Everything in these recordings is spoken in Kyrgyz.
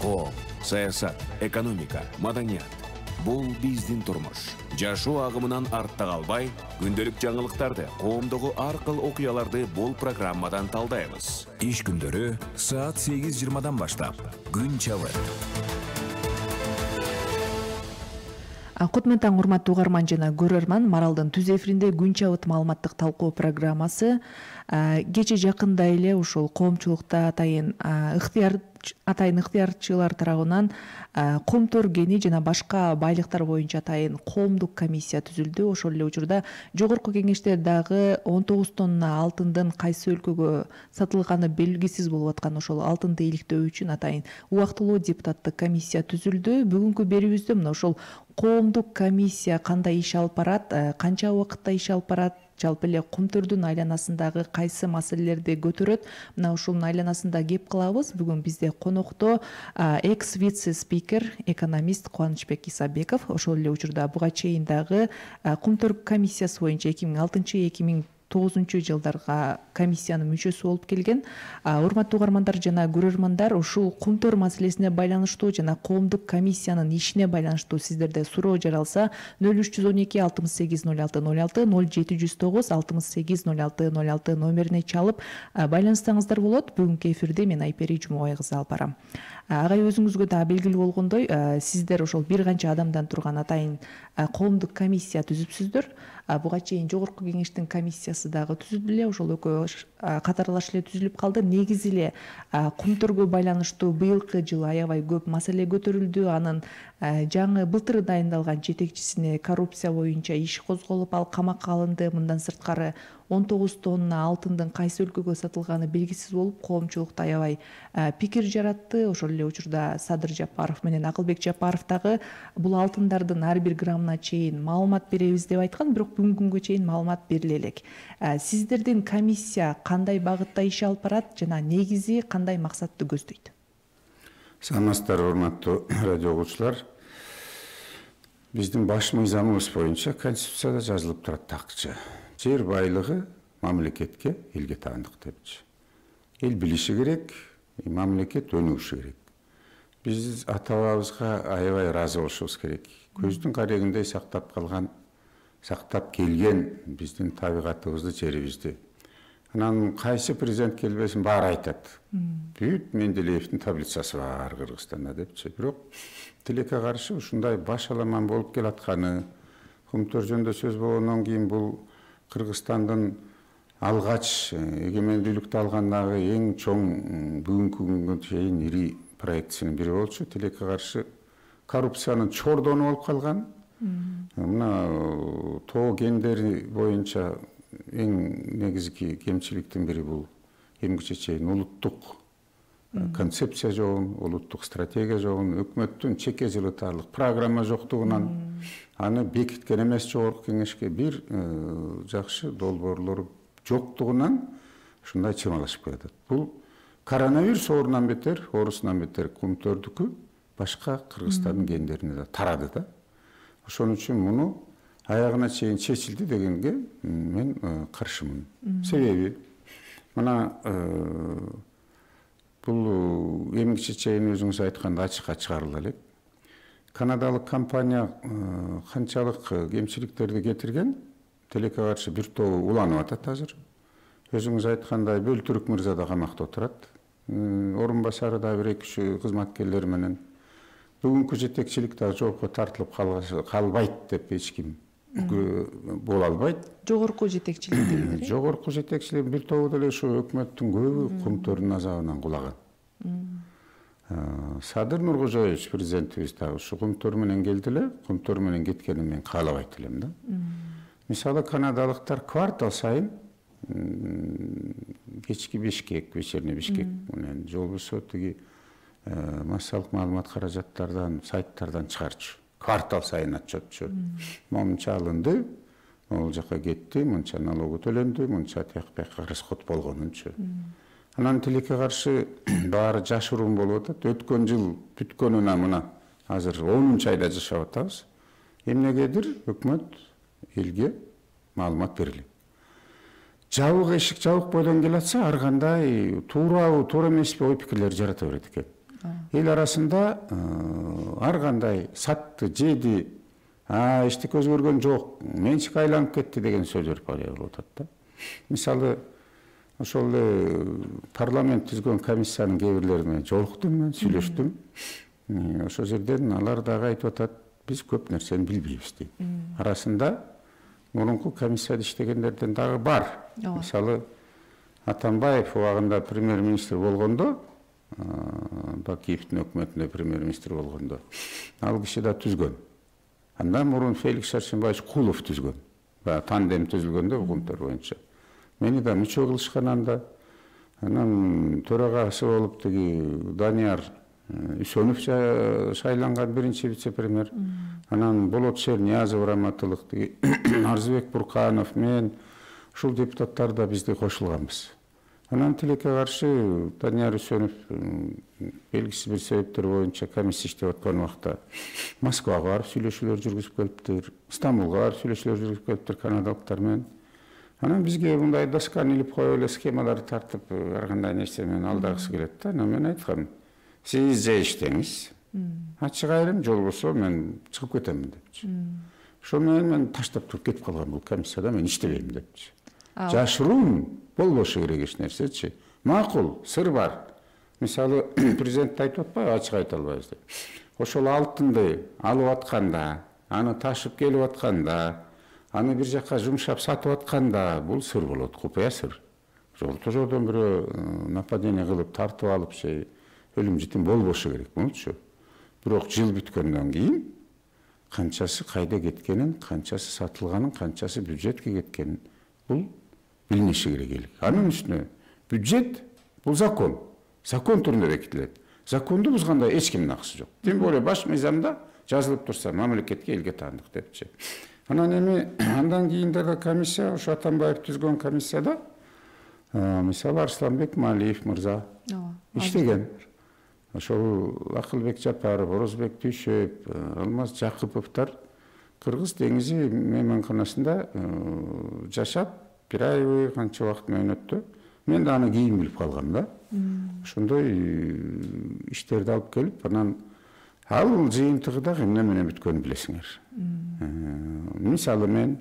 Коом, саясат, экономика, маданият. Бул биздин турмуш. Жашоо агымынан артта калбай, күндөлүк жаңылыктарды, коомдогу ар кыл окуяларды бул программадан талдайбыз. Иш күндөрү саат 8:20 баштап. Күн чабыт. Кутман таң, урматтуу угарман жана көрөрман, Маралдын түз эфиринде күн чабыт маалыматтык талкуу программасы. Кече жакында эле ушул коомчулукта атайын ыктыярчылар тарабынан комтор кени жана башка байлыктар боюнча атайын коомдук комиссия түзүлдү. Ошол эле учурда жогорку кеңеште дагы 19 тонна алтындын кайсы өлкөгө сатылганы белгисиз болуп аткан ошол алтынды иликтөө үчүн атайын убактылуу депутаттык комиссия түзүлдү. Бүгүнкү берүүбүздө мына ошол коомдук комиссия кандай иш алып барат, канча убакытта иш алып барат, жалпы эле комтордун айланасындагы кайсы маселелерди көтөрөт, мына ушунун айланасында кеп кылабыз. Бүгүн бизде конокто экс вице спикер, экономист Кубанычбек Исабеков. Ошол эле учурда буга чейин дагы комтор комиссиясы боюнча 2006-2009 жылдарга комиссиянын мүчөсү болуп келген. Урматтуу угармандар жана көрөрмандар, ушул комтор маселесине байланыштуу жана коомдук комиссиянын ишине байланыштуу сиздерде суроо жаралса 0312 68 06 06 0709 68 06 06 номерине чалып байланышсаңыздар болот. Бүгүнкү эфирде мен Айпери Жумабай кызы алып барам. Агай, өзүңүзгө да белгилүү болгондой, сиздер ошол бир канча адамдан турган атайын коомдук комиссия түзүпсүздөр. Буга чейин жогорку кеңештин комиссиясы дагы түзүлдү эле, ошол экөө катарлаш эле түзүлүп калды. Негизи эле комторго байланыштуу быйылкы жылы аябай көп маселе көтөрүлдү. Анын жаңы былтыр дайындалган жетекчисине коррупция боюнча иш козголуп, ал камакка алынды. Мындан сырткары 19 тонна алтындын кайсы өлкөгө сатылганы белгисиз болуп, коомчулукта аябай пикир жаратты. Ошол эле учурда Садыр Жапаров менен Акылбек Жапаров дагы бул алтындардын ар бир граммына чейин маалымат беребиз деп айткан, бирок бүгүнкү күнгө чейин маалымат бериле элек. Сиздердин комиссия кандай багытта иш алып барат жана негизи кандай максатты көздөйт? Саламатсыздар, урматтуу радио угуучулар. Биздин баш мыйзамыбыз боюнча Конституцияда жазылып турат такчы. Жер байлыгы мамлекетке, элге таандык депчи. Эл билиши керек, мамлекет өнүгүшү керек. Биз ата-бабабызга аябай ыраазы болушубуз керек. Көздүн карегиндей сактап келген биздин табигатыбызды, жерибизди. Анан кайсы президент келбесин баары айтат. Бүт Менделеевдин таблицасы бар Кыргызстанда депчи. Бирок тилекке каршы ушундай баш аламан болуп келатканы, комтор жөнүндө сөз болгондон кийин бул Кыргызстандын алгач эгемендүүлүктү алгандагы эң чоң бүгүнкү күнгө чейин ири проектисинин бири болчу. Тилекке каршы коррупциянын чордону болуп калган. Мына тоо кендери боюнча эң негизги кемчиликтин бири бул эмгиче чейин улуттук концепция жокун, улуттук стратегия жокун, өкмөттүн чеке жылытарлык программа жоктугунан аны бекиткен эмес жогорку кеңешке бир жакшы долбоорлору жоктугунан ушундай чымалашып келатат. Бул коронавирус оорусунан бетер комтордуку башка Кыргызстандын кендерине да тарады да. Ошон үчүн муну аягына чейин чечилди дегенге мен каршымын. Себеби мына бул эмгиче чейин өзүңүз айткандай ачыкка чыгарыла элек. Канадалык компания канчалык кемчиликтерди кетирген, тилекке каршы бир тобу уланып атат азыр. Өзүңүз айткандай Бөлтүрүк мырза да камакта отурат. Орун басары да 1-2 кызматкерлери менен. Бүгүнкү жетекчилик да жоопко тартылып калбайт деп эч ким боло албайт. Жогорку жетекчилик дегендер? Жогорку жетекчилик бир тобу деле ушу өкмөттүн көбү комтордун азабынан кулаган. Садыр Нуркожоевич президентибиз да ушу комтор менен келди эле, комтор менен кеткенин мен каалабайт элем да. Мисалы канадалыктар квартал сайын кечки Бишкек, вечерний Бишкек менен же болбосо тиги массалык маалымат каражаттардан, сайттардан чыгарчу. Квартал сайын отчетчу. Монча алынды, могул жака кетти, монча налогу төлөндү, монча тияк-бияка расход болгонунчу. Анан тилекке каршы баары жашыруун болуп атат. Өткөн жыл бүткөнүнө мына азыр 10-чы айда жашап атабыз. Эмнегедир өкмөт элге маалымат берилет. Жабык эшик жабык бойдон келатса, ар кандай туура эмеспи ой пикирлер жарата берет экен. эл арасында ар кандай сатты, жеди, эчтеке өзгөргөн жок, менчик айланып кетти деген сөздөр пайда болуп атат да. Мисалы, ошол парламент түзгөн комиссиянын кээ бирлери менен жолуктум, мен сүйлөштүм. Ошол жерден алар дагы айтып атат, биз көп нерсени билбейбиз дейт. Арасында мурунку комиссияда иштегендерден дагы бар. Мисалы, Атамбаев убагында премьер-министр болгондо, Бакиевдин өкмөтүндө премьер-министр болгондо, ал киши да түзгөн. Андан мурун Феликс Шаршенбаевич Кулов түзгөн. Тандем түзүлгөндө укумдар боюнча. Мени да мүчө кылышкан анда. Анан төрагасы болуп Данияр Үсөнов шайланган биринчи вице-премьер. Анан Болот Шерниязов раматылык, Арзыбек Бурканов, мен ушул депутаттар да бизди кошулганбыз. Анан тилекке каршы Данияр Үсөнов белгисиз бир себептер боюнча комиссия иштеп аткан убакта Москвага барып сүйлөшүүлөр жүргүзүп келиптир, Стамбулга барып сүйлөшүүлөр жүргүзүп келиптир канадалыктар менен. Анан бизге мындай досканы илип коюп эле схемаларды тартып, ар кандай нерсе менен алдагысы келет да. Анан мен айткам, сиз же иштеңиз, ачык айрым, жол болсо мен чыгып кетемин депчи. Ошол менен мен таштап туруп кетип калгам бул комиссияда, мен иштебейм депчи. Жашыруун болбошу керек эч нерсечи. Макул, сыр бар. Мисалы, президент айтып атпайбы, ачык айта албайбыз деп. Ошол алтынды алып атканда, аны ташып келип атканда, аны бир жакка жумшап сатып атканда, бул сыр болот, купуя сыр. Орто жолдон бирөө нападение кылып, тартып алып, өлүм житим болбошу керек, болчу. Бирок жыл бүткөндөн кийин канчасы кайда кеткенин, канчасы сатылганын, канчасы бюджетке кеткенин бул билиниши керек эл. Анын үстүнө бюджет бул закон. Закон түрүндө бекитилет. Законду бузганда эч кимдин акысы жок. Тем более баш мыйзамда жазылып турса, мамлекетке элге таандык депчи. Анан эми андан кийин дагы комиссия, ошо Атамбаев түзгөн комиссияда мисалы Арсланбек Малиев мырза иштеген. Ошол Акылбек Жапаров, Орозбек Түйшөп, Алмаз Жакыповдор Кыргыз деңизи мейманканасында жашап, бир ай канча убакыт менен өттү. Мен да аны кийин билип калгам да. Ошондой иштерди алып келип, анан ал жыйынтыгы дагы эмне менен бүткөнүн билесиңер. Мисалы мен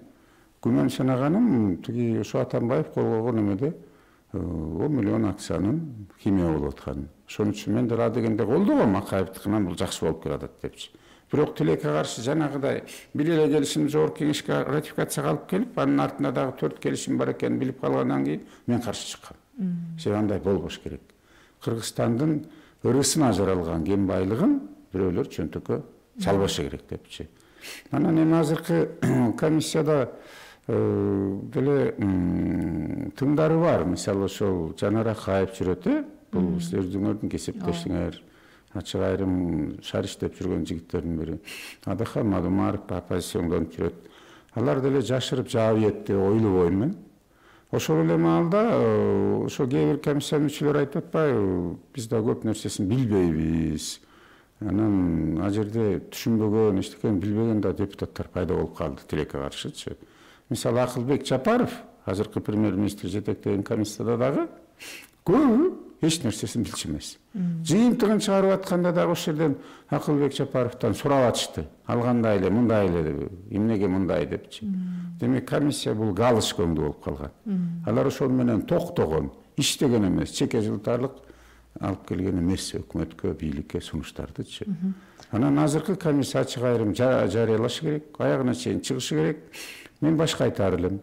күмөн санаганым тиги ошо Атамбаев кол койгон эмеде 10 миллион акциянын химия болуп атканын. Ошон үчүн мен да дегенде колдогом, Акаевдикинен бул жакшы болуп келатат депчи. Бирок тилекке каршы жанагыдай бир эле келишим жогорку кеңешке ратификацияга алып келип, анын артында дагы 4 келишим бар экенин билип калгандан кийин мен каршы чыккам. Андай болбош керек. Кыргызстандын ырысын ажыралган кен байлыгын бирөөлөр чөнтөккө салбашы керек депчи. Анан эми азыркы комиссияда деле тыңдары бар. Мисалы ошол Жанар Акаев жүрөт, бул сиздердин кесиптешиңер, ачык айрым шаар иштеп жүргөн жигиттердин бири. Адахан Мадумаров оппозициондон жүрөт. Алар деле жашырып жаабиетти ойлобойм мен. Ошол эле маалда ошо кээ бир комиссия мүчөлөрү айтып атпайбы, биз да көп нерсесин билбейбиз. Анан ал жерде түшүнбөгөн, эчтекени билбеген да депутаттар пайда болуп калды тилекке каршычы. Мисалы Акылбек Жапаров, азыркы премьер-министр жетектеген комиссияда дагы көбү эч нерсесин билчү эмес. Жыйынтыгын чыгарып атканда дагы ошол жерден Акылбек Жапаровдон сурап атышты. Ал кандай эле, мындай эле, эмнеге мындай депчи. Демек комиссия бул галыш көңдүү болуп калган. Алар ошол менен токтогон, иштеген эмес, чеке жылтарлык алып келген эмес өкмөткө, бийликке сунуштардычы. Анан азыркы комиссия ачык айрым жарыялашы керек, аягына чейин чыгышы керек. Мен башка айтар элем.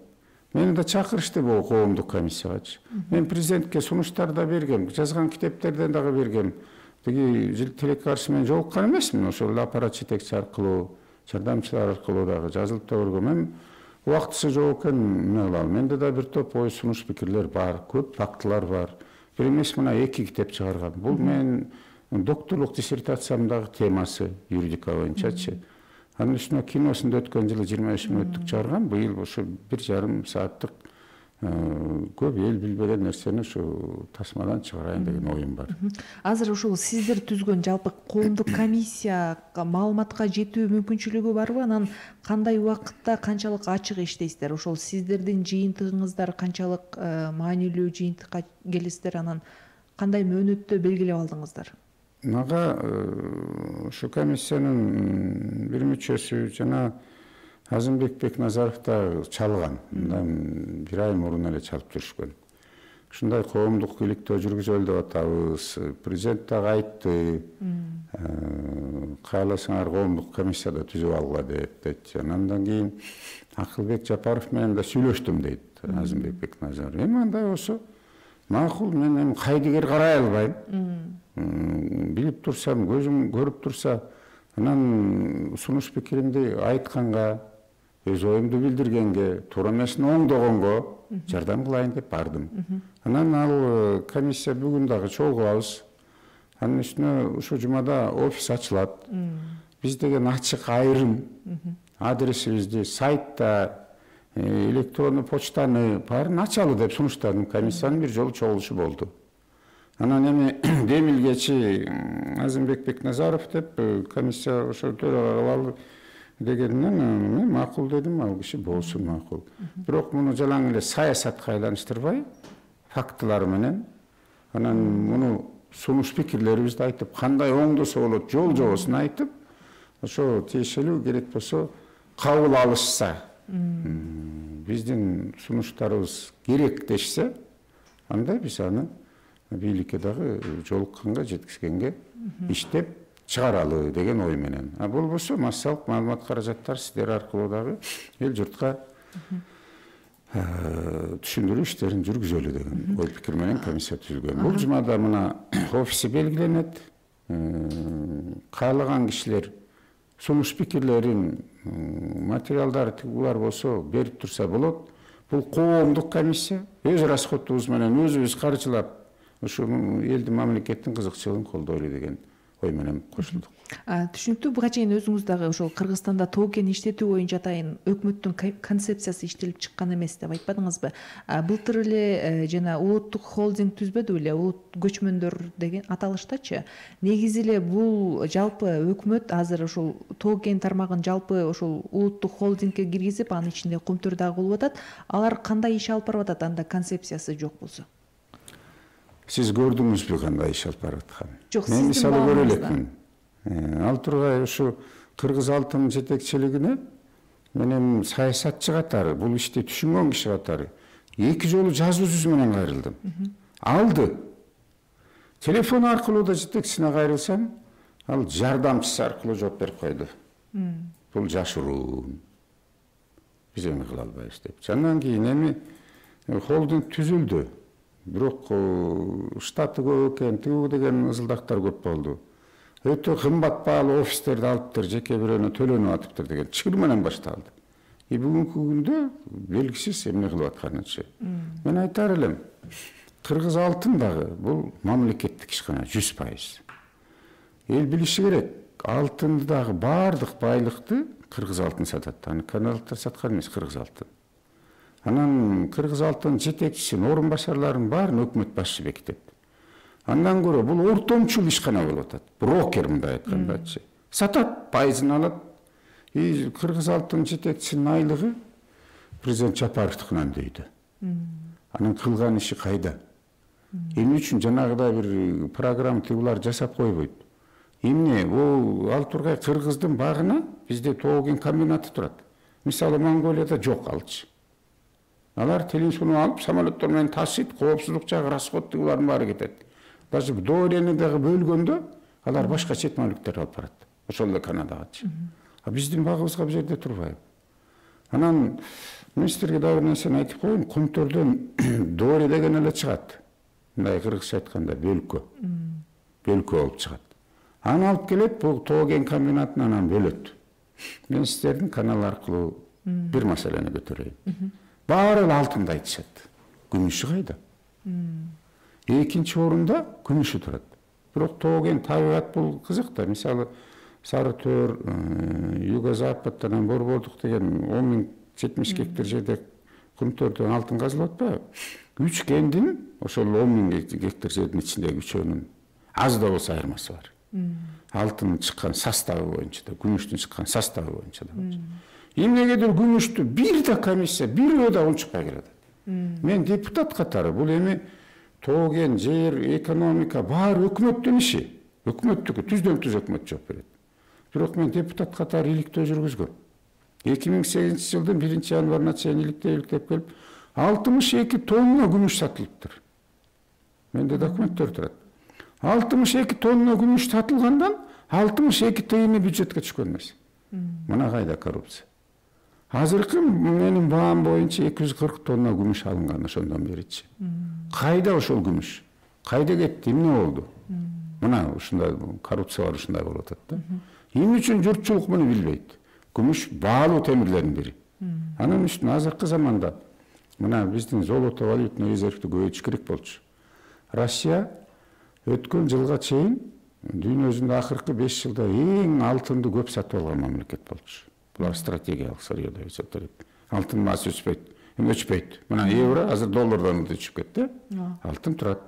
Мени да чакырышты бул коомдук комиссиягачы. Мен президентке сунуштар да бергем, жазган китептерден дагы бергем. Тиги тилекке каршы менен жолуккан эмесмин, ошол аппарат жетекчиси аркылуу, жардамчылар аркылуу дагы жазылып да көргөм. Мен убактысы жок экен, эмне кылам? Менде да бир топ ой сунуш пикирлер бар, көп фактылар бар. Бир эмес мына 2 китеп чыгаргам. Бул мен докторлук диссертациямдагы темасы юридика боюнчачы. Анын үстүнө киносунда өткөн жылы 25 мүнөттүк чыгаргам. Быйыл ошо 1,5 сааттык көп эл билбеген нерсени ушу тасмадан чыгарайын деген оюм бар. Азыр ушул сиздер түзгөн жалпы коомдук комиссияга маалыматка жетүү мүмкүнчүлүгү барбы? Анан кандай убакытта канчалык ачык иштейсиздер? Ошол сиздердин жыйынтыгыңыздар канчалык маанилүү жыйынтыкка келесиздер? Анан кандай мөөнөттө белгилеп алдыңыздар? мага ушу комиссиянын бир мүчөсү жана Азымбек Бекназаров да чалган. Мындан бир ай мурун эле чалып жүрүшкөн. Ушундай коомдук иликтөө жүргүзөлү деп атабыз. Президент дагы айтты. Кааласаңар коомдук комиссияда түзүп алгыла дейт. Андан кийин Акылбек Жапаров менен да сүйлөштүм дейт Азымбек Бекназаров. Эми андай болсо макул, мен эми кайдыгер карай албайм. Билип турсам, көзүм көрүп турса, анан сунуш пикиримди айтканга, өз оюмду билдиргенге, туура эмесин оңдогонго жардам кылайын деп бардым. Анан ал комиссия бүгүн дагы чогулабыз. Анын үстүнө ушу жумада офис ачылат. Биз деген ачык айрым адресибизди сайтта, электрондуу почтаны баарын ачалы деп сунуштадым. Комиссиянын бир жолу чогулушу болду. Анан эми демилгечи Азымбек Бекназаров деп комиссия ошо төрага кылалы дегенден мен макул дедим, ал киши болсун макул. Бирок муну жалаң эле саясатка айланыштырбай, фактылар менен анан муну сунуш пикирлерибизди айтып, кандай оңдосо болот, жол жобосун айтып, ошо тиешелүү керек болсо кабыл алышса, биздин сунуштарыбыз керектешсе, анда биз аны бийликке дагы жолукканга, жеткизгенге иштеп чыгаралы деген ой менен. А болбосо массалык маалымат каражаттар сиздер аркылуу дагы эл журтка түшүндүрүү иштерин жүргүзөлү деген ой пикир менен комиссия түзүлгөн. Бул жумада мына офиси белгиленет. Каалаган кишилер сунуш пикирлерин, материалдары булар болсо берип турса болот. Бул коомдук комиссия. Өз расходубуз менен өзүбүз каржылап ушуну элдин, мамлекеттин кызыкчылыгын колдойлу деген ой менен кошулдук. Түшүнүктүү. Буга чейин өзүңүз дагы ошол Кыргызстанда тоо кен иштетүү боюнча атайын өкмөттүн концепциясы иштелип чыккан эмес деп айтпадыңызбы? Былтыр эле жана улуттук холдинг түзбөдү беле, улут көчмөндөр деген аталыштачы. Негизи эле бул жалпы өкмөт азыр ошол тоо кен тармагын жалпы ошол улуттук холдингке киргизип, анын ичинде Кумтөр дагы болуп атат. Алар кандай иш алып барып атат анда концепциясы жок болсо? Сиз көрдүңүзбү кандай иш алып барып атканын? Жок, мен мисалы көрө элекмин. Ал тургай ушу Кыргыз алтын жетекчилигине менен саясатчы катары, бул ишти түшүнгөн киши катары 2 жолу жазуу жүзү менен кайрылдым. Алды. Телефон аркылуу да жетекчисине кайрылсам, ал жардамчысы аркылуу жооп берип койду. Бул жашыруу. Биз эми кыла албайбыз деп. Андан кийин эми холдинг түзүлдү. Бирок штаты көп экен, тигүү деген ызылдактар көп болду. Өтө кымбат баалуу офистерди алыптыр, жеке бирөөнө төлөнүп атыптыр деген чыр менен башталды. Бүгүнкү күндө белгисиз эмне кылып атканычы. Мен айтар элем, Кыргыз алтын дагы бул мамлекеттик ишкана 100%. Эл билиши керек, алтынды дагы баардык байлыкты Кыргыз алтын сатат. Аны каналдыктар саткан эмес, Кыргыз алтын. Анан Кыргыз алтын жетекчисин, орун басарларын баарын өкмөт башчы бекитет. Андан көрө бул ортомчул ишкана болуп атат. Брокер мындай айткандачы. Сатат, пайызын алат. Кыргыз алтын жетекчисинин айлыгы президент Жапаровдукунан дейди. Анын кылган иши кайда? Эмне үчүн жанагыдай бир программа тигулар жасап койбойт? Эмне бул ал тургай Кыргыздын багына бизде тоо кен комбинаты турат. Мисалы Монголияда жок алчы. Алар телин суну алып, самолеттор менен ташыйт, коопсуздук жагы, расход тигулардын баары кетет. Даже доорени дагы бөлгөндө алар башка чет мамлекеттерге алып барат. Ошол эле Канадагачы. А биздин багыбызга бул жерде турбайбы? Анан министрге дагы бир нерсени айтып коеюн, Кумтөрдөн доори деген эле чыгат. Мындай кыргызча айтканда бөлкө. Бөлкө болуп чыгат. Аны алып келет, бул тоо кен комбинатынан анан бөлөт. Мен сиздердин канал аркылуу бир маселени көтөрөйүн. Баары алтынды айтышат. Күмүшү кайда? Экинчи орунда күмүшү турат. Бирок тоо кен табигат бул кызык да. Мисалы Сарытөр, Юго-Западтан Борбордук деген 10.070 гектар жерде Кумтөрдөн алтын казылып атпайбы? 3 кендин ошол 10.000 гектар жердин ичиндеги үчөөнүн аз да болсо айырмасы бар. Алтын чыккан составы боюнча да, күмүштүн чыккан составы боюнча да. Эмнегедир күмүштү бир да комиссия, бирөө да унчукпай келет. Мен депутат катары бул эми тоо кен, жер, экономика баары өкмөттүн иши. өкмөттүкү түздөн түз өкмөт жооп берет. Бирок мен депутат катары иликтөө жүргүзгөм. 2008 жылдын 1-январына чейин иликтеп келип 62 тонна күмүш сатылыптыр. Менде документтер турат. 62 тонна күмүш сатылгандан 62 тыйыны бюджетке түшкөн эмес. Мына кайда коррупция. Азыркы менин баам боюнча 240 тонна күмүш алынган ошондон беричи. Кайда ошол күмүш? Кайда кетти? Эмне болду? Мына ушундай коррупция бар, ушундай болуп атат да. Эмне үчүн журтчулук муну билбейт? Күмүш баалуу темирлердин бири. Анын үстүнө азыркы заманда мына биздин золото валютный резервди көбөйтүш керек болчу. Россия өткөн жылга чейин дүйнөсүндө акыркы 5 жылда эң алтынды көп сатып алган мамлекет болчу. Булар стратегиялык сырьё деп эсептелет. Алтын маасы өчпөйт. Мына евро азыр доллардан өчүп кетти. Алтын турат.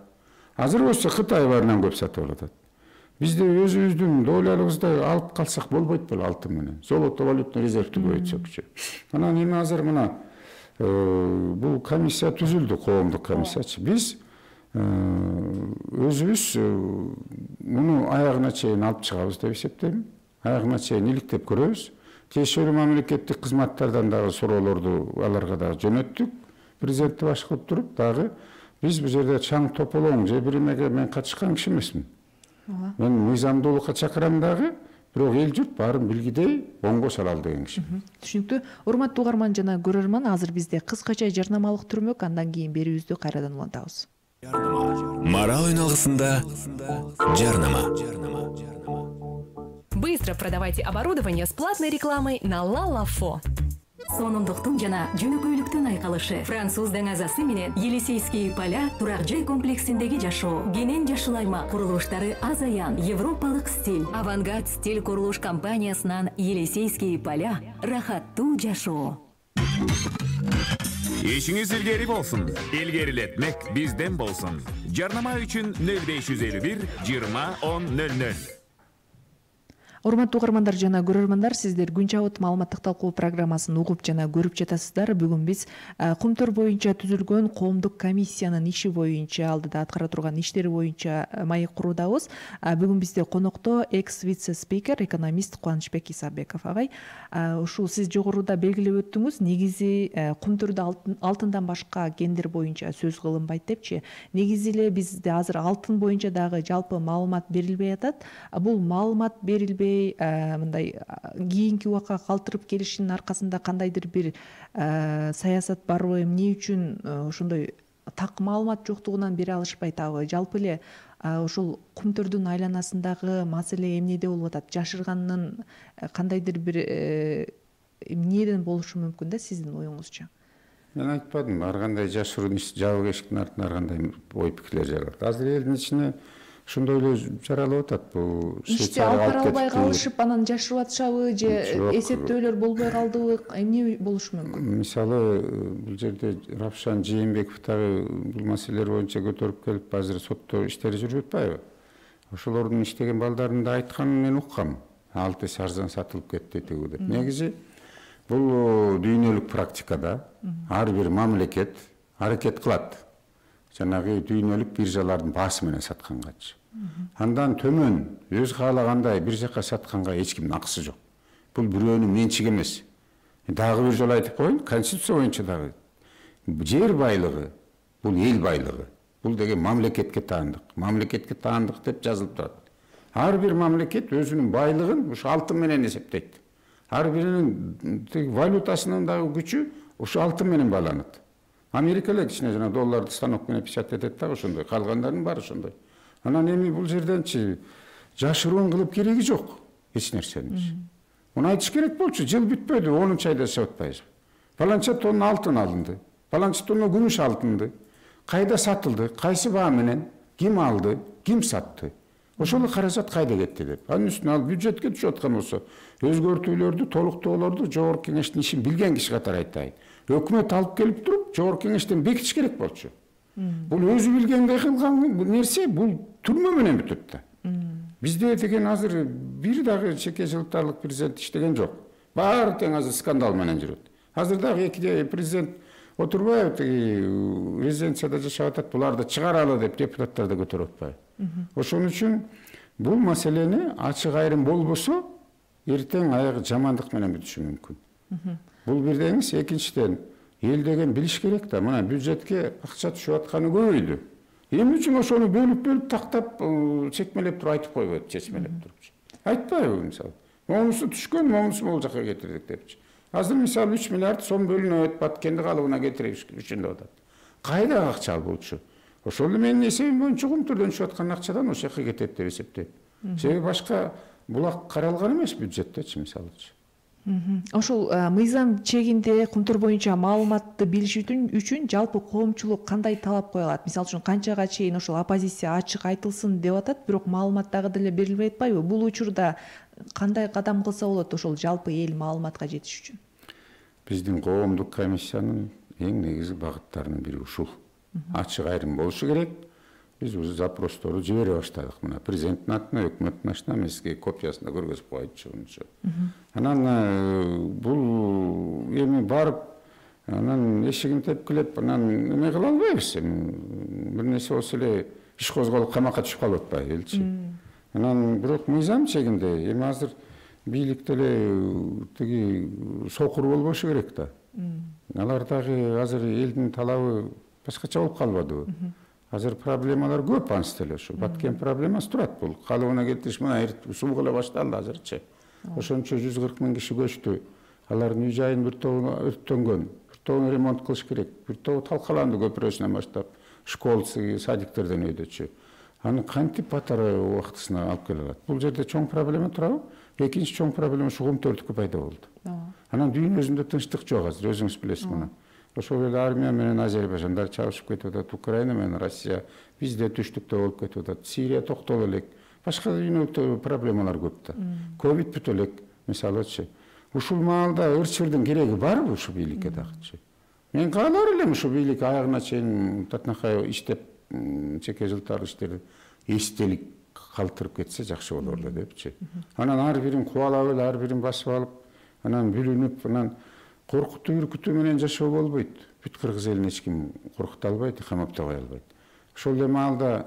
Азыр болсо Кытай баарынан көп сатып алат. Бизде өзүбүздүн доолялыгыбызды алып калсак болбойт беле алтын менен. Золото валютный резервди көбөйтсөкчү. Анан эми азыр мына бул комиссия түзүлдү, коомдук комиссиячы. Биз өзүбүз муну аягына чейин алып чыгабыз деп эсептейм. Аягына чейин иликтеп көрөбүз. Тиешелүү мамлекеттик кызматтардан дагы суроолорду аларга дагы жөнөттүк. Президентти баш кылып туруп дагы биз бул жерде чаң тополоң же биримеге мен катышкан киши эмесмин. Мен мыйзамдуулукка чакырам дагы, бирок эл журт баарын билгидей оңго салалы деген киши. Түшүнүктүү. Урматтуу угарман жана көрөрман, азыр бизде кыскача жарнамалык түрмөк, андан кийин берүүбүздү кайрадан улантабыз. Марал үналгысында жарнама. Быстро продавайте оборудование с платной рекламой на Лалафо. Сонундуктун жана жөнөкөйлүктүн айкалышы. Француз даңазасы менен Елисейские поля турак жай комплексиндеги жашоо. Кенен жашыл аймак курулуштары азаян. Европалык стиль. Авангард стиль курулуш компаниясынан Елисейские поля рахаттуу жашоо. Ишиңиз илгери болсун. Илгерилетмек бизден болсун. Жарнама үчүн 0551 20 10 00. Урматтуу угармандар жана көрөрмандар, сиздер Күн чабыт маалыматтык талкуу программасын угуп жана көрүп жатасыздар. Бүгүн биз Кумтөр боюнча түзүлгөн коомдук комиссиянын иши боюнча, алдыда аткара турган иштери боюнча маек куруудабыз. Бүгүн бизде конокто экс-вице-спикер, экономист Кубанычбек Исабеков агай. Ушул сиз жогоруда белгилеп өттүңүз, негизи Кумтөрдө алтындан башка кендер боюнча сөз кылынбайт депчи. Негизи эле бизде азыр алтын боюнча дагы жалпы маалымат берилбей атат. Бул маалымат берилбей мындай кийинки убакка калтырып келишинин аркасында кандайдыр бир саясат барбы, эмне үчүн ошондой так маалымат жоктугунан бере алышпайтабы? Жалпы эле ошол Кумтөрдүн айланасындагы маселе эмнеде болуп атат? Жашыргандын кандайдыр бир эмнеден болушу мүмкүн да сиздин оюңузча? Мен айтпадым, ар кандай жашыруу жабык эшиктин артынан ар кандай ой пикирлер жаралат. Азыр элдин ичине ошондой эле жаралып атат. Бул ишти алып бара албай калышып, анан жашырып атышабы же эсептөөлөр болбой калдыбы? Эмне болушу мүмкүн? Мисалы, бул жерде Рапшан Жээнбеков дагы бул маселелер боюнча көтөрүп келип, азыр сотто иштери жүрүп атпайбы? Ошолордун иштеген балдарын да айтканын мен уккам. 6 эсе арзан сатылып кетти тигүү деп. Негизи бул дүйнөлүк практикада ар бир мамлекет аракет кылат. Жанагы дүйнөлүк биржалардын баасы менен саткангачы. Андан төмөн өз каалагандай бир жака сатканга эч кимдин акысы жок. Бул бирөөнүн менчиги эмес. Дагы бир жолу айтып коеюн, конституция боюнча дагы жер байлыгы бул эл байлыгы. Бул деген мамлекетке таандык. Мамлекетке таандык деп жазылып турат. Ар бир мамлекет өзүнүн байлыгын ушу алтын менен эсептейт. Ар биринин валютасынын дагы күчү ушу алтын менен байланат. Америка эле кичине жана долларды станок менен печатать этет дагы ошондой, калгандардын баары ошондой. Анан эми бул жерденчи жашыруун кылып кереги жок эч нерсеничи. Муну айтыш керек болчу, жыл бүтпөдү, 10 айда жашап атпайбыз. Паланча тонна алтын алынды, паланча тонна күмүш алынды. Кайда сатылды, кайсы баа менен, ким алды, ким сатты? Ошол каражат кайда кетти деп. Анын үстүнө ал бюджетке түшүп аткан болсо, өзгөртүүлөрдү, толуктоолорду жогорку кеңештин ишин билген киши катары айтайын. Өкмөт алып келип туруп, жогорку кеңештен бекитиш керек болчу. Бул өзү билгендей кылган нерсе, бул түрмө менен бүтөт да. Бизде деген азыр бир дагы чеке жылтарлык президент иштеген жок. Баары тең азыр скандал менен жүрөт. Азыр дагы эки президент Отурбаев резиденцияда жашап атат, буларды чыгаралы деп депутаттар да көтөрүп атпайбы. Ошон үчүн бул маселени ачык айрым болбосо эртең аягы жамандык менен бүтүшү мүмкүн. Бул бир деңиз. Экинчиден, эл деген билиш керек да, мына бюджетке акча түшүп атканы көбөйдү. Эмне үчүн ошону бөлүп тактап, чекмелеп туруп айтып койбойт, чечмелеп турупчу. Айтпайбы мисалы? Монусу түшкөн, монусу могул жака кетирдик депчи. Азыр мисалы 3 миллиард сом бөлүнөт, Баткенди калыбына кетириш үчүн деп атат. Кайда акча албаучу? Ошол эле менин эсебим боюнча чогумтурдан түшүп аткан акчадан ошол жака кетет деп эсептейм. Себеби башка булак каралган эмес бюджеттечи мисалычы. Ошол мыйзам чегинде кумтур боюнча маалыматты билиш үчүн жалпы коомчулук кандай талап кое алат? Мисалы үчүн канчага чейин ошол оппозиция ачык айтылсын деп атат, бирок маалымат дагы деле берилбей атпайбы? Бул учурда кандай кадам кылса болот ошол жалпы эл маалыматка жетиш үчүн? Биздин коомдук комиссиянын эң негизги багыттарынын бири ушул. Ачык айрым болушу керек. Биз уже запросторду жибере баштадык. Мына президенттин атына, өкмөттүн атына эмески копиясын да көргөзүп койчу. Анан бул эми барып, анан эшигин тепкилеп, анан эме кыла албайбыз. Бир нерсе болсо эле иш козголуп камакка түшүп калып атпайбы элчи. Анан бирок мыйзам чегинде эми азыр бийликте эле тиги сокур болбошу керек да. Алар дагы азыр элдин талабы башкача болуп калбадыбы? Азыр проблемалар көп ансыз эле ошо. Баткен проблемасы турат бул. Калыбына кетириш мына суук эле башталды азырчы. Ошончо 140 000 киши көчтү. Алардын үй жайын бир тобу өрттөнгөн, бир тобун ремонт кылыш керек, бир тобу талкаланды көпүрөсүнөн баштап, школасы, садиктерден өйдөчү. Аны кантип батары убактысына алып келе алат? Бул жерде чоң проблема турабы? Экинчи чоң проблема ушу Кумтөрдүкү пайда болду. Анан дүйнө өзүндө тынчтык жок азыр, өзүңүз билесиз мына. Ошол эле армия менен Азербайжандар чабышып кетип атат, Украина менен Россия бизде түштүктө болуп кетип атат, Сирия токтоло элек, башка дүйнөлүк проблемалар көп да. Ковид бүтө элек, мисалычы. Ушул маалда ырчырдын кереги барбы ушу бийликке дагычы? Мен каалар элем ушу бийлик аягына чейин татынакай иштеп, чеке жылтар иштерди эстелик калтырып кетсе жакшы болор эле депчи. Анан ар бирин кубалап эле, ар бирин басып алып, анан бүлүнүп, анан коркутуу үркүтүү менен жашоо болбойт. Бүт кыргыз элин эч ким коркута албайт, камаптабай албайт. Ошол эле маалда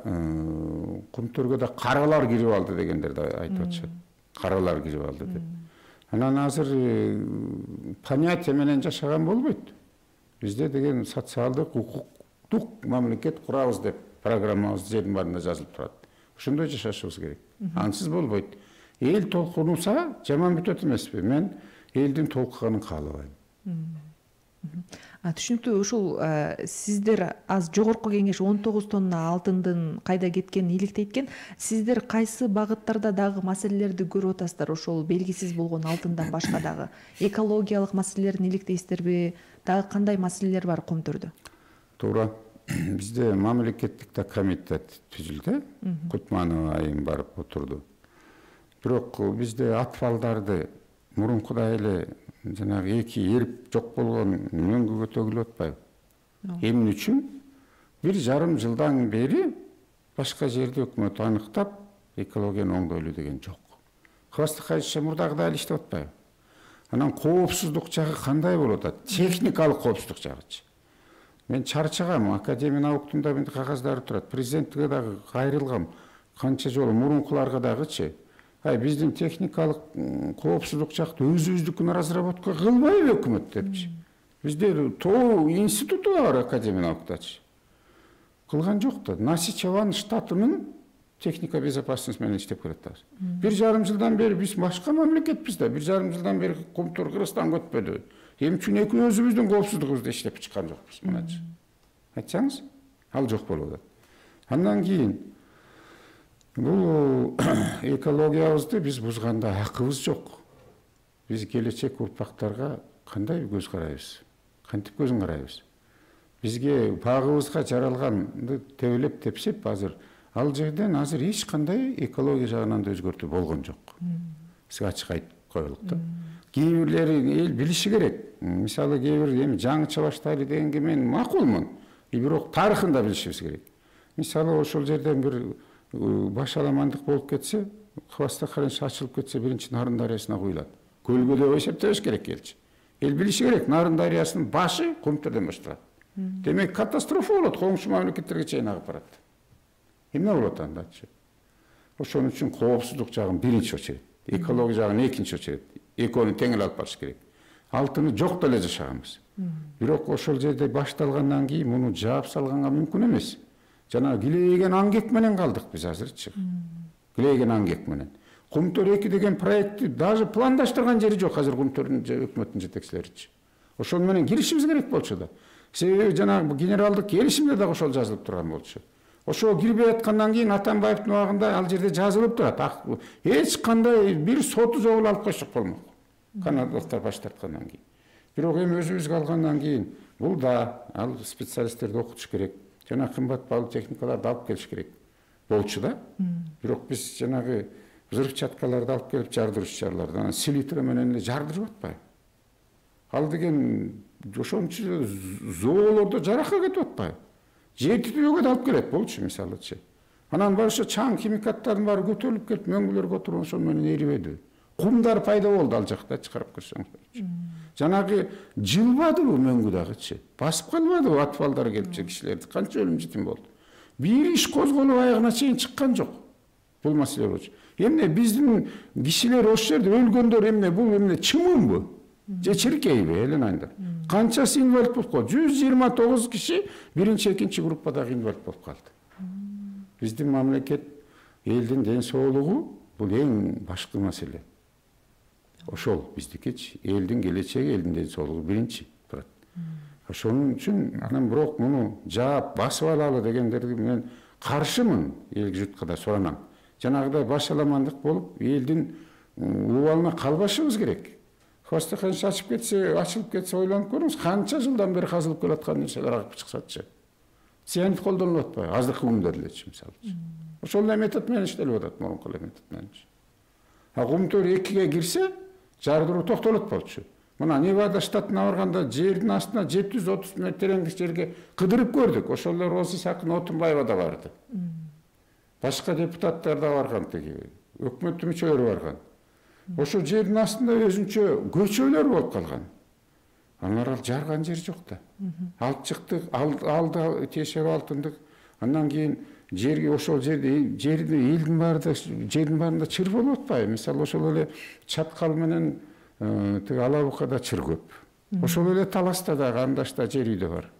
Кумтөргө да каралар кирип алды дегендер да айтып атышат. Каралар кирип алды деп. Анан азыр понятие менен жашаган болбойт. Бизде деген социалдык, укуктук мамлекет курабыз деп программабыз жердин баарында жазылып турат. Ошондой жашашыбыз керек. Ансыз болбойт. Эл толкунса жаман бүтөт эмеспи? Мен элдин толкуганын каалабайм. Түшүнүктүү. Ушул сиздер аз жогорку кеңеш 19 тонна алтындын кайда кеткенин иликтейт экен. Сиздер кайсы багыттарда дагы маселелерди көрүп атасыздар? Ошол белгисиз болгон алтындан башка дагы экологиялык маселелерин иликтейсиздерби? Дагы кандай маселелер бар Кумтөрдө? Туура. Бизде мамлекеттик комитет түзүлдү. Кутманова айым барып отурду. Бирок бизде атфалдарды мурункудай эле жанагы эки эрип жок болгон мөңгүгө төгүлүп атпайбы? Эмне үчүн 1,5 жылдан бери башка жерде өкмөт аныктап экологияны оңдойлу деген жок. Хвастыкайча мурдагыдай эле иштеп атпайбы? Анан коопсуздук жагы кандай болуп атат? Техникалык коопсуздук жагычы. Мен чарчагам, Академия науктун да менде кагаздары турат. Президентке дагы кайрылгам. Канча жолу мурункуларга дагычы. Биздин техникалык коопсуздук жакты өзүбүздүкүн разработка кылбайбы өкмөт депчи. Бизде ТОУ институту бар Академия науктачы. Кылган жок да. Насичеванын штатынын техника безопасность менен иштеп келатабыз. 1,5 жылдан бери биз башка мамлекетпиз да. 1,5 жылдан бери Кумтөр Кыргызстанга өтпөдү. Эмне үчүн өзүбүздүн коопсуздугубузду иштеп чыккан жокпуз мыначы? Айтсаңыз, ал жок болуп атат. Андан кийин бул экологиябызды биз бузганда акыбыз жок. Биз келечек урпактарга кандай көз карайбыз? Кантип көзүн карайбыз? Бизге багыбызга жаралганды тебелеп тепсеп азыр ал жерден азыр эч кандай экология жагынан да өзгөртүү болгон жок. Сизге ачык айтып коелук да. Кээ бирлери эл билиши керек. Мисалы кээ бир эми жаңыча баштайлы дегенге мен макулмун. Бирок тарыхын да билишибиз керек. Мисалы ошол жерден бир башаламандык болуп кетсе, Хвастакайча ачылып кетсе, биринчи Нарын дарыясына куюлат. Көлгө деп эсептебеш керек элчи. Эл билиши керек, Нарын дарыясынын башы Кумтөрдөн башталат. Демек катастрофа болот, коңшу мамлекеттерге чейин агып барат. Эмне болот андачы? Ошон үчүн коопсуздук жагын биринчи очерет, экология жагын экинчи очерет. Экөөнү тең эле алып барыш керек. Алтыны жок деле жашаганбыз. Бирок ошол жерде башталгандан кийин муну жаап салганга мүмкүн эмес. Жана килейген аңгек менен калдык биз азырчы. Килейген аңгек менен. Кумтөр 2 деген проектти даже пландаштырган жери жок азыр Кумтөрдүн өкмөттүн жетекчилеричи. Ошол менен киришибиз керек болчу да. Себеби жанагы генералдык келишимде дагы ошол жазылып турган болчу. Ошо кирбей аткандан кийин Атамбаевдин убагында ал жерде жазылып турат. Эч кандай бир соту жобул алып койсок болмок. Канадалыктар баш тарткандан кийин. Бирок эми өзүбүзгө алгандан кийин бул да ал специалисттерди окутуш керек. Жана кымбат баалуу техникаларды алып келиш керек болчу да. Бирок биз жанагы взрывчаткаларды алып келип жардырышчыларды анан селитра менен эле жардырып атпайбы? Ал деген ошончо зоолордо жаракка кетип атпайбы? Жер титирөөгө да алып келет болчу мисалычы. Анан ошо чаң химикаттардын баары көтөрүлүп келип мөңгүлөргө отуруп ошол менен эрибеди. Кумдар пайда болду ал жактачы карап көрсөңүзчү. Жанагы жылбадыбы мөңгү дагычы? Басып калбадыбы атфалдар келипчи кишилерди? Канча өлүм житим болду? Бир иш козголуп аягына чейин чыккан жок. Бул маселе болчу. Эмне биздин кишилер ошол жерде өлгөндөр эмне бул эмне чымынбы? Же чиркейби элен айында? Канчасы инвалид болуп калды? 129 киши биринчи, экинчи группадагы инвалид болуп калды. Биздин мамлекет, элдин ден соолугу бул эң башкы маселе. Ошол биздикичи, элдин келечеги, элдин ден соолугу биринчи турат. Ошонун үчүн анан бирок муну жаап басып алалы дегендерди мен каршымын, эл журтка да суранам. Жанагыдай башаламандык болуп, элдин убалына калбашыбыз керек. Хвостохранилище ачылып кетсе ойлонуп көрүңүз, канча жылдан бери казылып келаткан нерселер агып чыксачы. Цианид колдонулуп атпайбы? Азыркы күндөр элечи мисалы. Ошол эле метод менен иштелип атат, мурунку эле метод менен. Кумтөр 2ге кирсе, жардыруу токтолот болчу. Мына Невада штатына барганда жердин астына 730 метр тереңдик жерге кыдырып көрдүк. Ошол эле Роза Сакын Отунбаева да барды. Башка депутаттар да барган, теги өкмөт мүчөлөрү барган. Ошол жердин астында өзүнчө көчөлөр болуп калган. Алар жарган жер жок да. Алып чыктык, алды тешеп алтындык. Андан кийин жерге ошол жерде элдин баарында чыр болуп атпайбы? Мисалы ошол эле Чаткал менен тиги Алабукада чыр көп. Ошол эле Таласта дагы Андашта жер үйдө бар.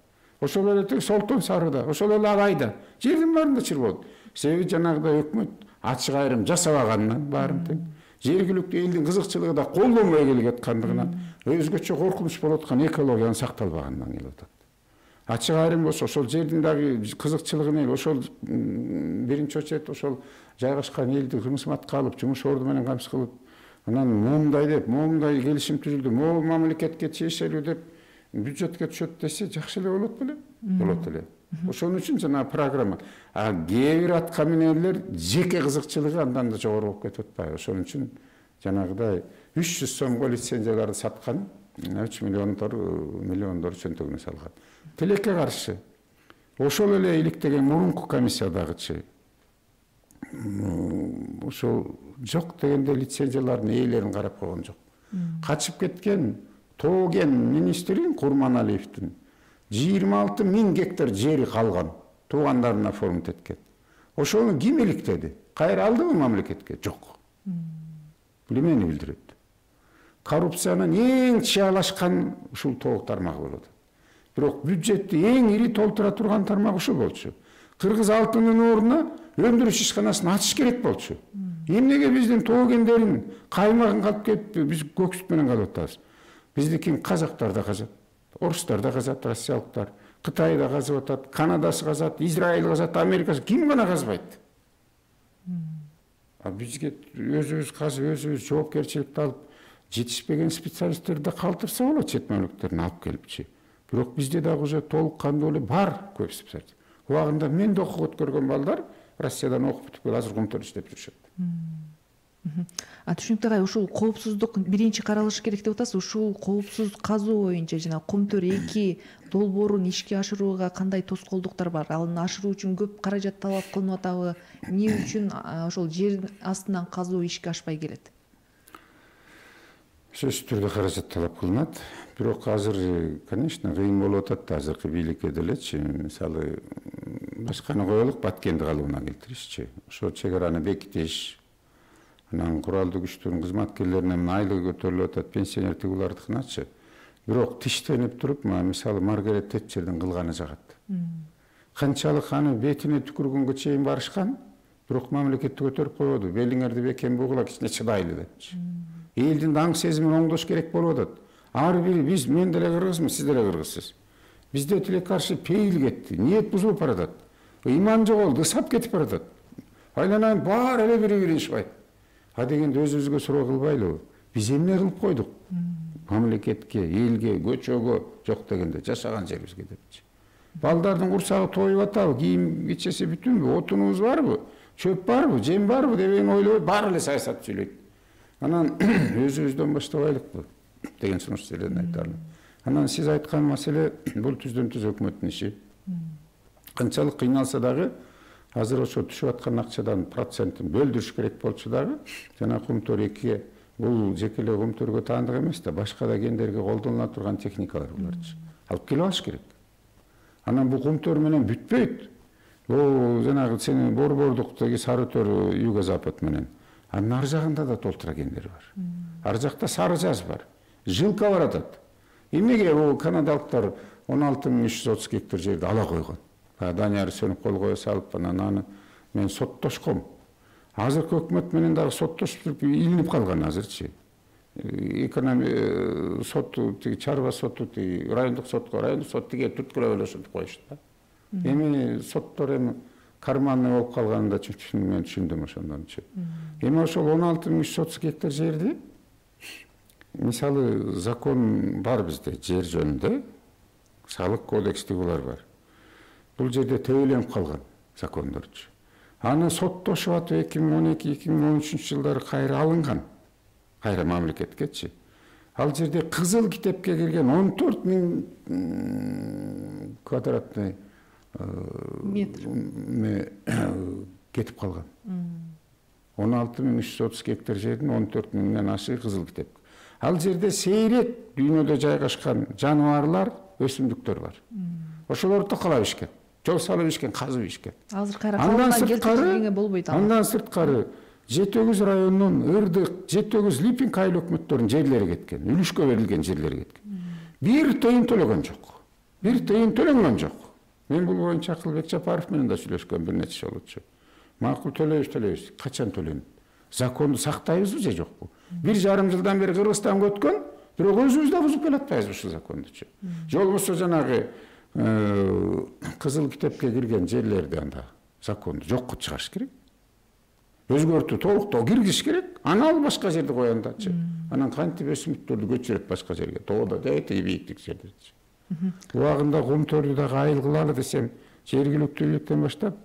Ошол эле тиги Солтон Сарыда, ошол эле Алайда жердин баарында чыр болот. Себеби жанагыдай өкмөт ачык айрым жасабаганынан баарын тең. Жергиликтүү элдин кызыкчылыгы да колдонбой келип аткандыгынан өзгөчө коркунуч болуп аткан экологиянын сакталбаганынан келип атат. Ачык айрым болсо ошол жердин дагы кызыкчылыгын эл ошол биринчи очерет ошол жайгашкан элди кымсыматка алып, жумуш орду менен камсыз кылып, анан моундай деп, моундай келишим түзүлдү, могу мамлекетке тиешелүү деп бюджетке түшөт десе жакшы эле болот беле? Болот эле. Ошон үчүн жана программа. Кээ бир аткаминерлер жеке кызыкчылыгы андан да жогору болуп кетип атпайбы? Ошон үчүн жанагыдай 300 сомго лицензияларды саткан, 3 миллиондор чөнтөгүнө салган. Тилекке каршы. Ошол эле иликтеген мурунку комиссиядагычы ошол жок дегенде лицензиялардын ээлерин карап койгон жок. Качып кеткен Тоген министрин Курманалиевдин 26 000 гектар жери калган, туугандарына формат эткен. Ошону ким иликтеди? Кайра алдыбы мамлекетке? Жок. Бул эмнени билдирет? Коррупциянын эң чыялашкан ушул тоок тармагы болот. Бирок бюджетти эң ири толтура турган тармак ушул болчу. Кыргыз алтынын ордуна өндүрүш ишканасын ачыш керек болчу. Эмнеге биздин тоогендерин каймагын калып кетип, биз көк сүт менен калып атабыз? Биздикин казактар да казат, орустар да казат, россиялыктар, Кытай да казып атат, Канадасы казат, Израиль казат, Америкасы, ким гана казбайт? Бизге өзүбүз казып, өзүбүз жоопкерчиликти алып, жетишпеген специалисттерди калтырса болот, чет мамлекеттерден алып келипчи. Бирок бизде дагы уже толук кандуу эле бар көп специалист. Убагында мен да окуп өткөргөн балдар Россиядан окуп бүтүп келип азыр Кумтөрдө иштеп жүрүшөт. Түшүнүктүү агай, ушул коопсуздук биринчи каралышы керек деп атасыз. Ушул коопсуз казуу боюнча жана Кумтөр 2 долбоорун ишке ашырууга кандай тоскоолдуктар бар? Аны ашыруу үчүн көп каражат талап кылынып атабы? Эмне үчүн ошол жер астынан казуу ишке ашпай келет? Сөзсүз түрдө каражат талап кылынат. Бирок азыр, конечно, кыйын болуп атат азыркы бийликке делечи. Мисалы, башканы коелук, Баткенди калыбына келтиришчи. Ошо чек араны бекитиш, анан куралдуу күчтөрдүн кызматкерлеринин айлыгы көтөрүлүп атат, пенсионер тигулардыкыначы. Бирок тиштенип туруп, мисалы Маргарет Тэтчердин кылганы жагат. Канчалык аны бетине түкүргөнгө чейин барышкан, бирок мамлекетти көтөрүп койбоду. Белиңерди бекем бугула кичине чыдайлы депчи. Элдин аң сезимин оңдош керек болуп атат. Ар бири биз, мен деле кыргызмын, сиз деле кыргызсыз. Бизде тилекке каршы пейил кетти, ниет бузулуп баратат. Иман жоголду, ысап кетип баратат. Айланайын баары эле бири-бири ишпайт. А дегенде өзүбүзгө суроо кылбайлыбы? Биз эмне кылып койдук? Мамлекетке, элге, көчөгө жок дегенде жашаган жерибизге депчи. Балдардын курсагы тоюп атабы, кийим кечеси бүтүнбү, отунубуз барбы, чөп барбы, жем барбы дебен ойлобой баары эле саясат сүйлөйт. Анан өзүбүздөн баштабайлыкпы деген сунуш сөйлөдүн айтарлык. Анан сиз айткан маселе бул түздөн түз өкмөттүн иши. Канчалык кыйналса дагы азыр ошо түшүп аткан акчадан процентин бөлдүрүш керек болчу дагы, жана Кумтөр 2 бул жеке эле Кумтөргө таандык эмес да, башка да кендерге колдонула турган техникалар буларчы. Алып келип алыш керек. Анан бул Кумтөр менен бүтпөйт. Бул жанагы сенин Борбордуктагы Сарытөр юго-запад менен. Анын ар жагында да толтура кендер бар. Ар жакта Сары Жаз бар. Жылка баратат. Эмнеге бул канадалыктар 16.330 гектар жерди ала койгон? Данияр Сөнүп кол кое салып, анан аны мен соттошком. Азыркы өкмөт менен дагы соттошуп илинип калган азырчы. Экономия соту, чарба соту, райондук сот тиге түрткүлөп эле ошентип коюшту да. Эми соттор эми карманный болуп калганын да мен түшүндүм ошондончу. Эми ошол 16.330 гектар жерди мисалы закон бар бизде жер жөнүндө, салык кодекстигилер бар. Бул жерде төөлөнүп калган закондорчу. Аны соттошуп атып 2012-2013 жылдары кайра алынган. Кайра мамлекеткечи. Ал жерде кызыл китепке кирген 14.000 квадратный метр кетип калган. 16.330 гектар жердин 14.000ден ашы кызыл китеп. Ал жерде сейрет дүйнөдө жайгашкан жаныбарлар, өсүмдүктөр бар. Ошолорду токолоп ишкен, жол салып ишкен, казып ишкен. Азыр кайра калган келтирилгенге болбойт. Андан сырткары Жетөгүз районунун Ырдык, Жетөгүз, Липинг айыл өкмөттөрүнүн жерлери кеткен, үлүшкө берилген жерлери кеткен. Бир тыйын төлөгөн жок. Бир тыйын төлөнгөн жок. Мен бул боюнча Акылбек Жапаров менен да сүйлөшкөм бир нече жолучу. Макул төлөйбүз. Качан төлөнөт? Законду сактайбызбы же жокпу? 1,5 жылдан бери Кыргызстанга өткөн, бирок өзүбүз да бузуп келатпайбызбы ушул закондучу? Же болбосо жанагы кызыл китепке кирген жерлерди анда законду жокко чыгарыш керек. Өзгөртүү толуктоо киргизиш керек. Аны ал башка жерде кояндачы. Анан кантип өсүмдүктөрдү көчүрөт башка жерге? Тоодо дээти бийиктик жердечи. Убагында Кумтөрдү дагы айыл кылалы десем, жергиликтүү бийликтен баштап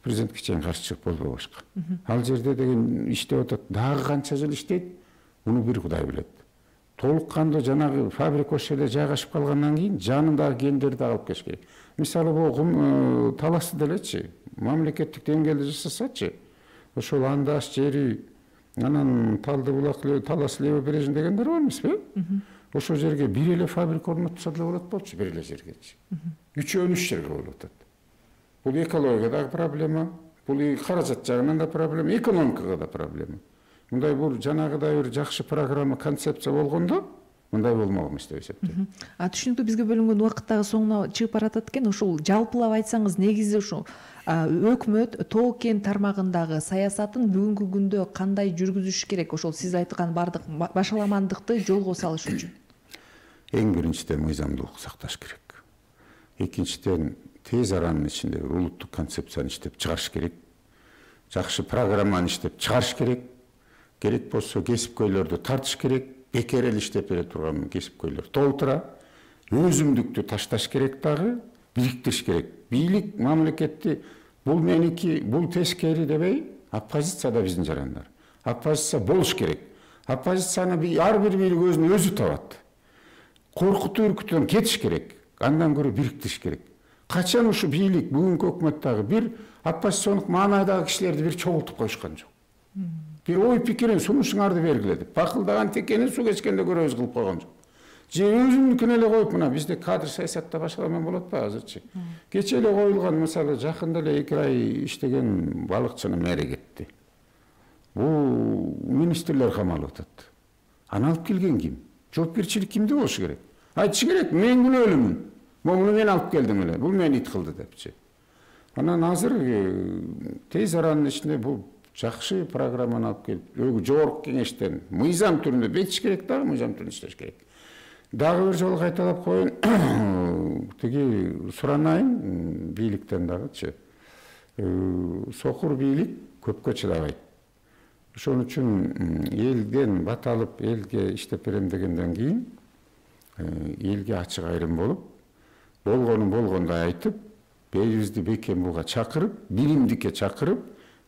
президентке чейин каршычылык болбой башка. Ал жерде деген иштеп атат. Дагы канча жыл иштейт? Муну бир Кудай билет. Толук кандуу жанагы фабрика ошол жерде жайгашып калгандан кийин жанындагы кендерди алып келиш керек. Мисалы бул таласты делечи, мамлекеттик деңгээлде жасасачы, ошол андаш жери, анан Талды булак талас левобережный дегендер бар эмеспи? Ошол жерге бир эле фабрика орнотса деле болот болчу, бир эле жергечи. 3 жерге болуп атат. Бул экологияга дагы проблема, бул каражат жагынан да проблема, экономикага да проблема. Мындай бул жанагыдай бир жакшы программа, концепция болгондо мындай болмок эмес деп эсептейм. Түшүнүктүү, бизге бөлүнгөн убакыт дагы соңуна чыгып баратат экен. Ушул жалпылап айтсаңыз, негизи ушул өкмөт тоо кен тармагындагы саясатын бүгүнкү күндө кандай жүргүзүш керек? Ошол сиз айткан бардык башаламандыкты жолго салыш үчүн. Эң биринчиден мыйзамдуулук сакташ керек. Экинчиден тез аранын ичинде улуттук концепцияны иштеп чыгарыш керек. Жакшы программаны иштеп чыгарыш керек. Керек болсо кесипкөйлөрдү тартыш керек. Бекер эле иштеп бере турган кесипкөйлөр толтура. Өзүмдүктү ташташ керек дагы, бириктириш керек. Бийлик, мамлекетти бул меники, бул тескери дебей, оппозиция да биздин жарандар. Оппозиция болуш керек. Оппозицияны ар бир бийлик өзүнө өзү табат. Коркутуу үркүтүүдөн кетиш керек. Андан көрө бириктириш керек. Качан ушу бийлик, бүгүнкү өкмөттөгү бир оппозициондук маанайдагы кишилерди бир чогултуп коюшкан жок. Бир ой пикирин, сунушуңарды бергиле деп. Бакылдаган текени суу кечкенде көрөбүз кылып койгон жок. же өзүмдүкүн эле коюп, мына бизде кадр саясатта башкалармен болот атпайбы азырчы. Кече эле коюлган, мисалы жакында эле 2 ай иштеген балыкчыны мэри кетти. Бул министрлер камалып атат. Аны алып келген ким? Жоопкерчилик кимде болушу керек? Айтышы керек, мен күнөөлүүмүн. Муну мен алып келдим эле. Бул мени ит кылды депчи. Анан азыр тез аранын ичинде бул жакшы программаны алып келип, жогорку кеңештен мыйзам түрүндө бекитиш керек дагы, мыйзам түрүндө иштеш керек. Дагы бир жолу кайталап коеюн, тиги суранайын бийликтен дагычы. Сокур бийлик көпкө чыдабайт. Ошон үчүн элден бат алып, элге иштеп берем дегенден кийин элге ачык айрым болуп, болгонун болгондой айтып, бейибизди бекем буга чакырып, билимдикке чакырып,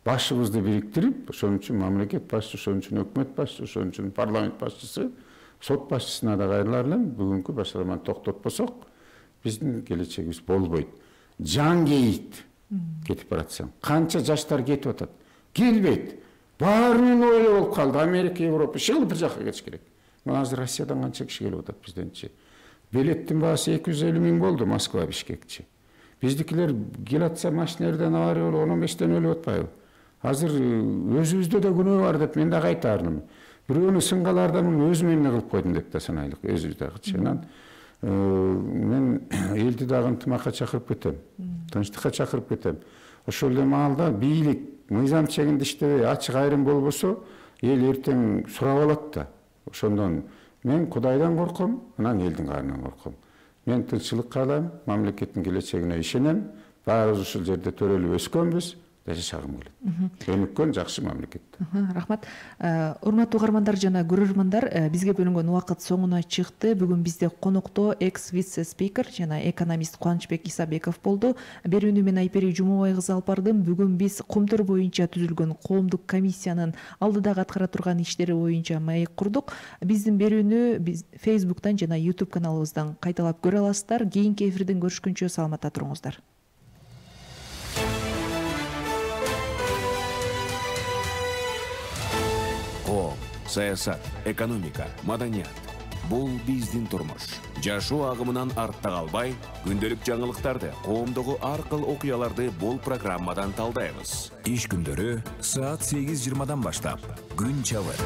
башыбызды бириктирип, ошон үчүн мамлекет башчысы, ошон үчүн өкмөт башчысы, ошон үчүн парламент башчысы, сот башчысына да кайрылар элем. Бүгүнкү башкаламаны токтотпосок, биздин келечегибиз болбойт. Жан кейит кетип баратсаң. Канча жаштар кетип атат. Келбейт. Баарынын ойло болуп калды. Америка, Европа, шыл бир жакка кетиш керек. Мына азыр Россиядан канча киши келип атат бизденчи. Билеттин баасы 250 000 болду Москва, Бишкекчи. Биздикилер келатса машинелерден авария болуп 15тен өлүп атпайбы? Азыр өзүбүздө да күнөө бар деп мен да кайтарым. Бирөөнү сынгалардан өзүм эмне кылып койдум деп да санайлык, өзүбүз дагычы. Мен элди дагы ынтымакка чакырып кетем. Тынчтыкка чакырып кетем. Ошол эле маалда бийлик мыйзам чегинде иштебей, ачык айрым болбосо, эл эртең сурап алат да. Ошондон мен Кудайдан корком, анан элдин каарынан корком. Мен тынччылык каалайм, мамлекеттин келечегине ишенем. Баарыбыз ушул жерде төрөлүп өскөнбүз, жашагым келет. Өнүккөн жакшы мамлекет. Рахмат. Урматтуу угармандар жана көрөрмандар, бизге бөлүнгөн убакыт соңуна чыкты. Бүгүн бизде конокто экс-вице спикер жана экономист Кубанычбек Исабеков болду. Берүүнү мен Айпери Жумабай кызы алып бардым. Бүгүн биз Кумтөр боюнча түзүлгөн коомдук комиссиянын алдыдагы аткара турган иштери боюнча маек курдук. Биздин берүүнү биз Facebook'тан жана YouTube каналыбыздан кайталап көрө аласыздар. Кийинки эфирден көрүшкөнчө саламатта туруңуздар. Саясат, экономика, маданият. Бул биздин турмуш. Жашоо агымынан артта калбай, күндөлүк жаңылыктарды, коомдогу ар кыл окуяларды бул программадан талдайбыз. Иш күндөрү саат 8:20 баштап күн чабыт.